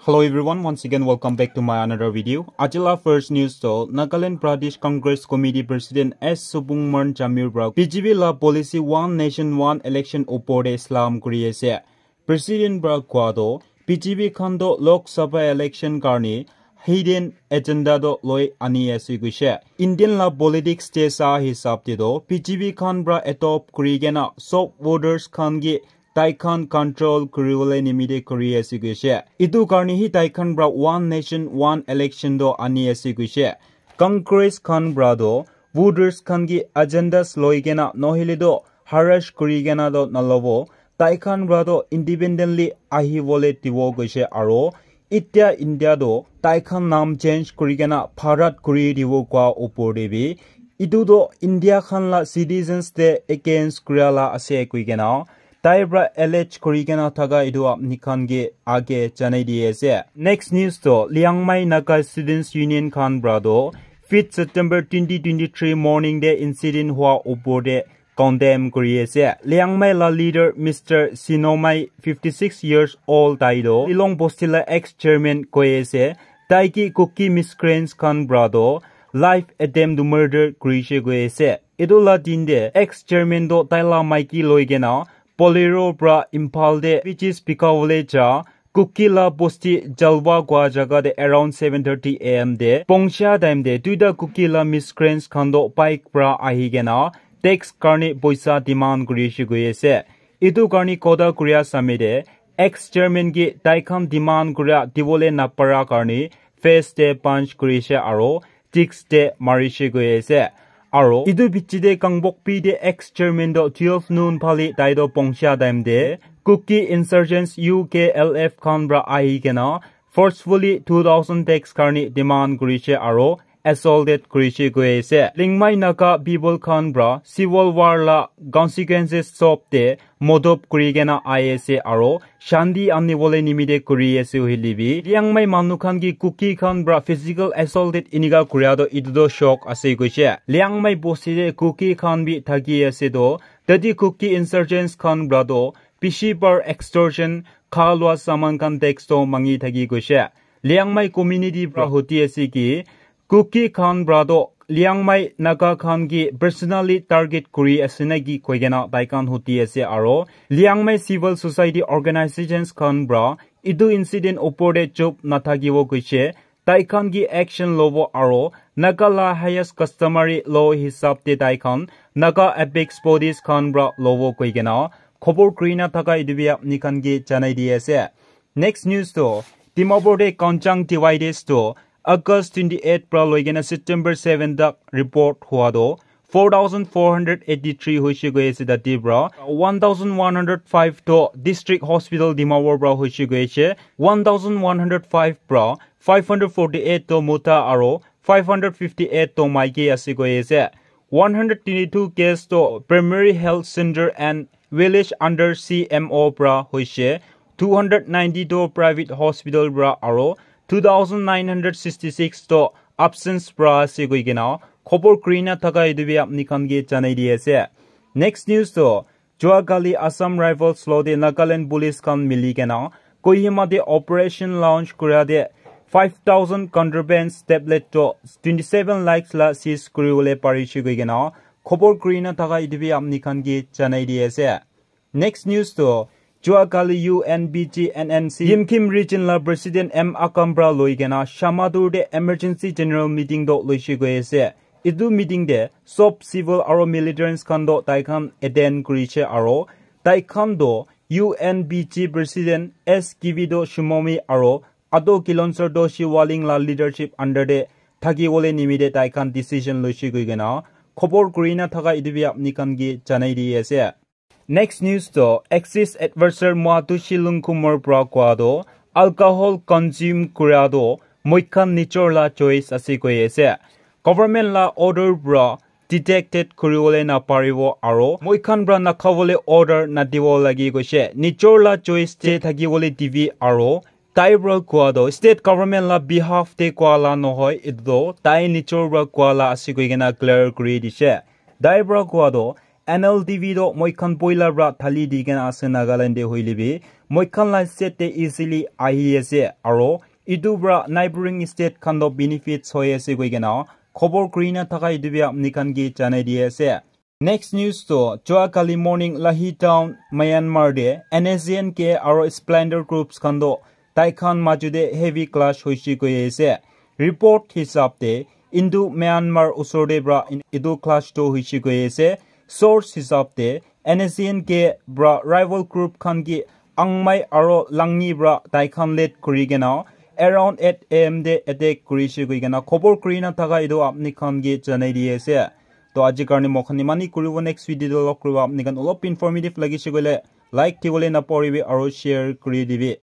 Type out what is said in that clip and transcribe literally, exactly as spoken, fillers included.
Hello everyone, once again welcome back to my another video. Ajila first news to Nagaland Pradesh Congress Committee President S Supongmon Jamir pra B J P la policy One Nation One Election opor te slam kuri ase. President pra koa to B J P khan to Lok Sabha election karni hidden agenda to loi ani ase koise. Indian la politics te sa hisab te to B J P khan pra adopt kuri kena sob voters khan ki tai khan control kuri bole nimite kuri ase koise. Itu karni hi tai khan pra One Nation One Election to ani ase koise. Congress khan pra to voters khan ki agendas loi kena nohile to harass kuri kena to nalobo. Tai khan pra to independently ahi bole dibo koise aro itya India to tai khan naam change kuri kena Bharat kuri dibo koa opor te bi itu to India khan la citizens te against kura la ase koi kena tai pra allege kuri kena thaka itu apni khan ke age janai di ase. Next news to Liangmai Naga Students Union khan pra to fifth September twenty twenty-three morning te incident hua opor te condemn kuri ase. Liangmai la leader Mister Sinomai, fifty-six years old, tai to Lilong Bosti la ex chairman koi ase. Tai ki Kuki miscreants khan pra to life attempt to murder kuri she koi ase. Itu la din te ex chairman to tai la maiki loi kena Bolero pra Imphal te peaches bika bole ja Kuki la bosti Jalwa koa jaga te around seven thirty A M te pongcha time te duita Kuki la miscreants khan to bike pra ahi kena tax karni poisa demand kuri shi koi ase. Itu karni kotha kuria same te ex chairman ki tai khan demand kuria dibole napara karni face te punch kuri she aro cheeks te mari she koi ase. Aro itu bichi te Kangpokpi te ex chairman to twelve noon phale tai to pongcha time te Kuki insurgents U K L F khan pra ahi kena forcefully two thousand tax karni demand kuri she aro assaulted kuri she koi ase. Lingmai Naga people khan pra civil war la consequences sob te modop kuri kena ahi ase aro shanti ani bole nimite kuri ase hoile bi Liangmai manu khan ki Kuki khan pra physical assaulted inika kuria to itu to shock ase koise. Liangmai bosti te Kuki khan bi thaki ase to tate Kuki insurgents khan pra to bishi bar extortion kha lua saman khan tax to mangi thaki koise. Liangmai community pra huti ase ki Kuki khan pra to Liangmai Naga khan ki personally target kuri ase na ki koi kena tai khan huti ase aro Liangmai civil society organizations khan pra itu incident opor te chup nathakibo koise. Tai khan ki action lobo aro Naga la highest customary law hisab te tai khan Naga apex bodies khan pra lobo koi kena khobor kuri na thaka itu bi apni khan ki janai di ase. Next news to Dimapur te Kanchang dividers to August twenty-eight pra loi kena September seven tak report hua to four thousand four hundred eighty-three hoise koi ase tate pra one thousand one hundred five to district hospital Dimapur pra hoise koi ase, one thousand one hundred five pra five hundred forty-eight to mota aro five hundred fifty-eight to maiki ase koi ase. One hundred twenty-two case to primary health center and village under C M O pra hoise, two hundred ninety to private hospital pra aro two thousand nine hundred sixty-six to absence pra ase koi kena khobor kuri na thaka itu bi apni khan ke janai di ase. Next news to Juakali Assam Rifles lo te Nagaland Police khan mili kena Kohima te operation launch kura te five thousand contraband tablet to twenty-seven lakhs la seize kuri bole pari shi koi kena khobor kuri na thaka itu bi apni khan ke janai di ase. Next news to Juakali U N B G N N C Yimkhiung region la president M Akam pra loi kena Shamator te emergency general meeting to loi shi koi ase. Itu meeting te sob civil aro militants khan to tai khan attend kuri she aro tai khan to U N B G president S Kivido Shimomi aro Ado Kilonser to Shiwaling la leadership under te thaki bole nimite tai khan decision loi shi koi kena khobor kuri na thaka itu bi apni khan ke janai di ase. Next news to Axis advisor Moatushi Lungkumar pra koa to alcohol consume kura to moi khan nijor la choice ase koi ase. Government la order pra detected kuri bole na paribo aro moi khan pra na kha bole order na dibo lagi koise. Nijor la choice te thaki bole dibi aro tai pra koa to state government la behalf te koa la nohoi, itu to tai nijor pra koa la ase koi kena clear kuri dise. Tai pra koa to N L D V toh moi khan poila pra thali di kena ase Nagaland te hoile bi. Moi khan la state te easily ahi ase aro etu pra neighboring state khan toh benefits hoi ase koi kena khobor kuri na thaka etu bi apni khan ke janai di ase. Next news toh, jua kali morning Lahi town, Myanmar te N S D N K aro Splendor groups khan toh tai khan maju te heavy clash hoise koi ase. Report hisab te, Indo Myanmar usor te pra in-, etu clash toh hoise koi ase. Source hisab te, N S D N K pra rival group khan ke Angmai aro Langni pra tai khan led kuri kena around eight A M te attack kurise koi kena khobor kuri na thaka etu apni khan ke janai di ase. To aji karne moi khan imani kuribo, next video te log kuribo. Apni khan olop informative lagise koile like dibole napahoribi aro share kuri dibi.